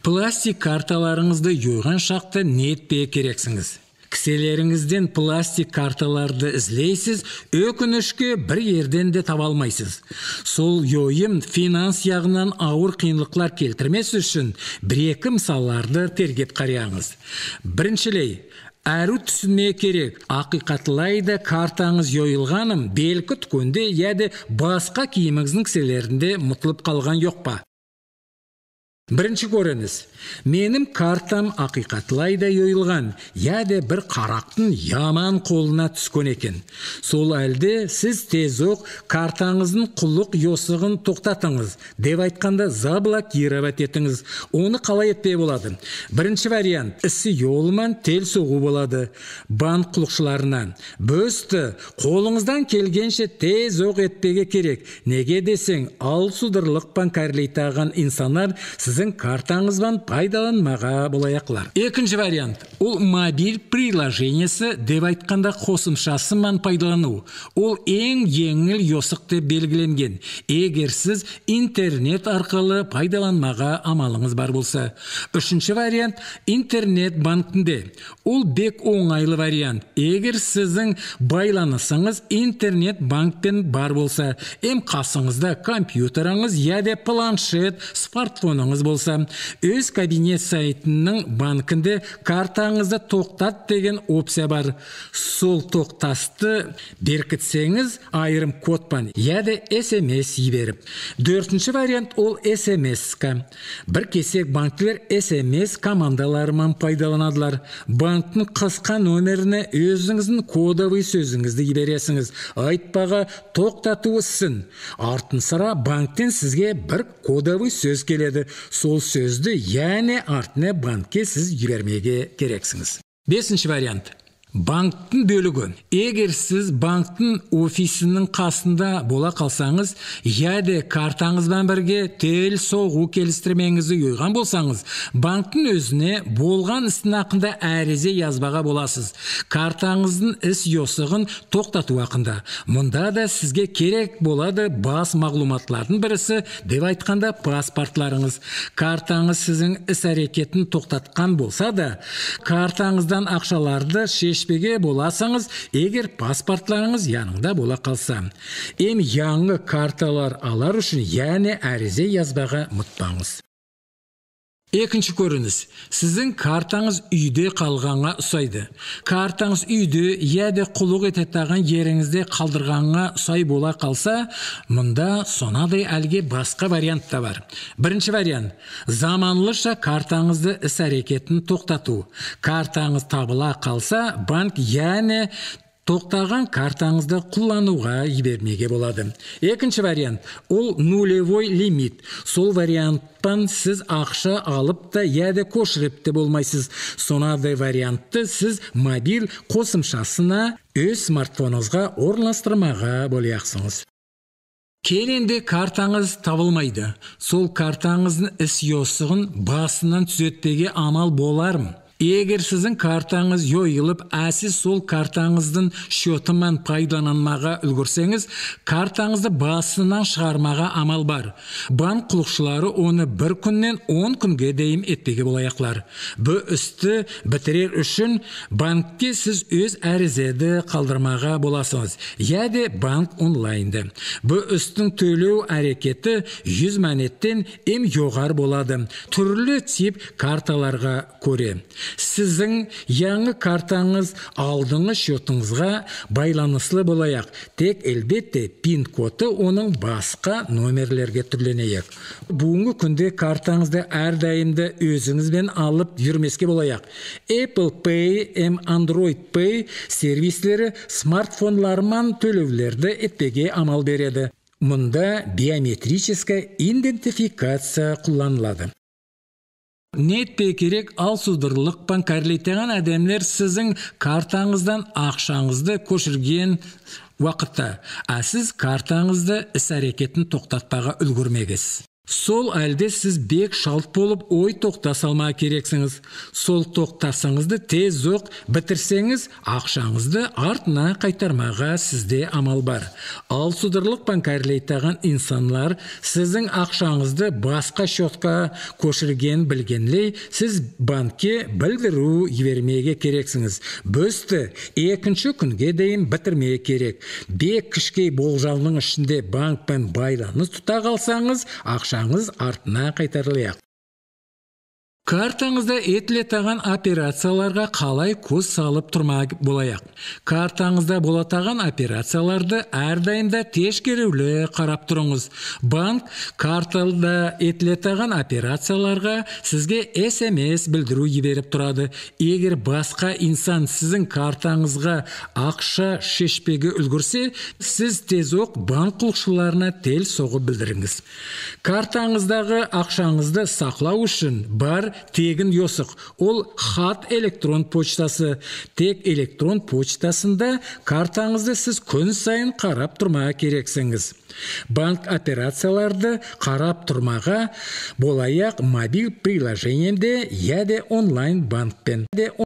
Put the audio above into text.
Пластик карталарыңызды жойған шақта не етпей керексіңіз. Кіселеріңізден пластик карталарды ізлейсіз, өкінішке бір ерден де таба алмайсыз. Сол йойым финанс яғынан ауыр қиынлықлар келтірмес үшін бір-екі мысалларды тергеп қараңыз. Біріншілей, әрі түсіне керек, ақиқатлайды картаңыз йойылғаным белкі түкөнде яды басқа киіміңіздің кіселерінде мұтылып қалған жоқ па? Бірінші көріңіз, менің картам ақиқатлайда йойылған, яды бір қарақтың яман қолына түскен екен. Сол әлде сіз тезоқ картаңыздың құлық йосығын тоқтатыңыз, деп айтқанда заблокировать етіңіз. Оны қалай етпей болады? Бірінші вариант, ісі йолман тел соғу болады. Банк құлықшыларынан. Бөсті, қолыңыздан келгенше тезоқ етпеге керек. Неге десең, ал судырлықпан кәрлейтаған инсанар сіздің картаңызбан пайдаланмаға болаяқлар. Екінші вариант, ол мобиль приложениесі деп айтқанда қосымшасымен пайдалану. Ол ең еңіл йосық деп белгіленген. Егер сіз интернет арқылы пайдаланмаға амалыңыз бар болса. Үшінші вариант, интернет банкінде. Ол бек оңайлы вариант. Егер сіздің байланысыңыз интернет банкпен бар болса, қасыңызда компьютеріңіз яде планшет, смартфоныңыз болса, өз кабинет сайтының банкінде картаңызды тоқтат деген опция бар. Сол тоқтасты беркітсеңіз айырым кодпан, яды SMS еберіп. Дөртінші вариант ол SMS-ка. Бір кесек банкілер SMS командаларымен пайдаланадылар. Банктың қысқа нөміріне өзіңіздің кодовый сөзіңізді ебересіңіз. Айтпаға тоқтату ісін. Артын sıra банктен сізге бір кодовый сөз келеді. Сол сөзді, яғни артына банкке сіз жібермеге керексіңіз. Бесінші вариант. Банктың бөлігі. Егер сіз банктың офисінің қасында бола қалсаңыз, яды картаңызбен бірге тел соғу келістірмеңізді ойған болсаңыз, банктың өзіне болған істің ақында әрезе язбаға боласыз. Картаңыздың іс йосығын тоқтату ақында. Мұнда да сізге керек болады бас мағлуматлардың бірісі деп айтқанда паспортларыңыз. Картаңыз сіздің іс әрекетін тоқтатқан болса да, картаңыздан ақшаларды шешпеге боласаңыз, егер паспортларыңыз яныңда бола қалса. Яңы карталар алар үшін яғни әрезе язбаға мұтпаңыз. Екінші көрініс. Сіздің картаңыз үйде қалғанға ұсайды. Картаңыз үйде яды құлық ететаған еріңізде қалдырғанға ұсай бола қалса, мұнда сонадай әлге басқа вариант та бар. Бірінші вариант. Заманлыша картаңызды іс әрекетін тоқтату. Картаңыз табыла қалса, банк яғни тоқтаған картаңызды құлануға ебермеге болады. Екінші вариант, ол нулевой лимит. Сол варианттан сіз ақша алып та яды көшіріпті болмайсыз. Сонадай вариантты сіз мобиль қосымшасына өз смартфоныңызға орналастырмаға болаяқсыңыз. Келенде картаңыз табылмайды. Сол картаңыздың іс йосығын басынан түзетпеге амал боларым. Егер сіздің картаңыз йойылып, әсіз сол картаңыздың шотымен пайдаланмаға үлгірсеңіз, картаңызды басынан шығармаға амал бар. Банк құлықшылары оны бір күннен 10 күнге дейін етпеге болаяқлар. Бұл істі бітірер үшін банкке сіз өз әрізеді қалдырмаға боласыңыз. Яде банк онлайнды. Бұл істің төлеу әрекеті 100 мәнеттен жоғар болады. Түрлі тип карталарға көре. Сіздің яңы картаңыз алдыңғы шотыңызға байланыслы болаяқ. Тек әлбетте пин коды оның басқа номерлерге түрленейік. Бүгінгі күнде картаңызды әрдайымды өзіңізбен алып жүрмеске болаяқ. Apple Pay, Android Pay сервислері смартфонлармен төлеулерді етпеге амал береді. Мұнда биометрическая идентификация қолданылады. Нетпе керек ал судырлықпан кәрлейтеген әдемлер сіздің картаңыздан ақшаңызды көшірген уақытта, сіз картаңызды іс әрекетін тоқтатпаға үлгірмегіз. Сол әлде сіз бек шалт болып ой тоқта салма керексіңіз. Сол тоқтасыңызды тез оқ бітірсеңіз, ақшаңызды артына қайтармаға сізде амал бар. Ал судырлық банкарлейтаған инсанлар сіздің ақшаңызды басқа шотқа көшірген білгенлей, сіз банкке білдіру жібермеге керексіңіз. Бөсті екінші күнге дейін бітірмеге керек. Бек кішкей болжалының ішінде банкпен байланыс тұта қалсаңыз, ақшаңыз артына қайтарылайық. Картаңызда етілетаған операцияларға қалай көз салып тұрмақ болайық. Картаңызда болатаған операцияларды әрдайымда тешкерулі қарап тұрыңыз. Банк карталда етілетаған операцияларға сізге SMS білдіру жіберіп тұрады. Егер басқа инсан сіздің картаңызға ақша шешпеге үлгірсе, сіз тез оқ банк құлшыларына тел соғып білдіріңіз. Картаңыздағы ақшаңызды сақлау үшін бар тегін йосық. Ол хат электрон почтасы. Тек электрон почтасында картаңызды сіз күн сайын қарап тұрмаға керексіңіз. Банк операцияларды қарап тұрмаға болайық мобил приложениемде яде онлайн банкпен.